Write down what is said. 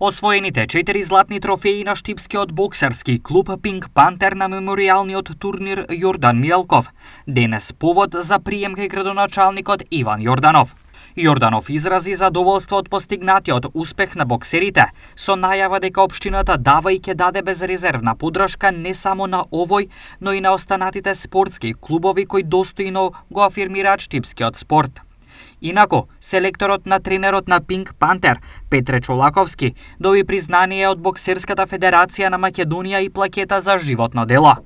Освоените 4 златни трофеи на штипскиот боксерски клуб Пинк Пантер на меморијалниот турнир Јордан Мијалков, денес повод за прием кај градоначалникот Иван Јорданов. Јорданов изрази задоволство од постигнатиот успех на боксерите, со најава дека општината дава и ќе даде безрезервна поддршка не само на овој, но и на останатите спортски клубови кои достојно го афирмираат штипскиот спорт. Инаку, селекторот на тренерот на Пинк Пантер, Петре Чолаковски, доби признание од Боксерската федерација на Македонија и плакета за животно дело.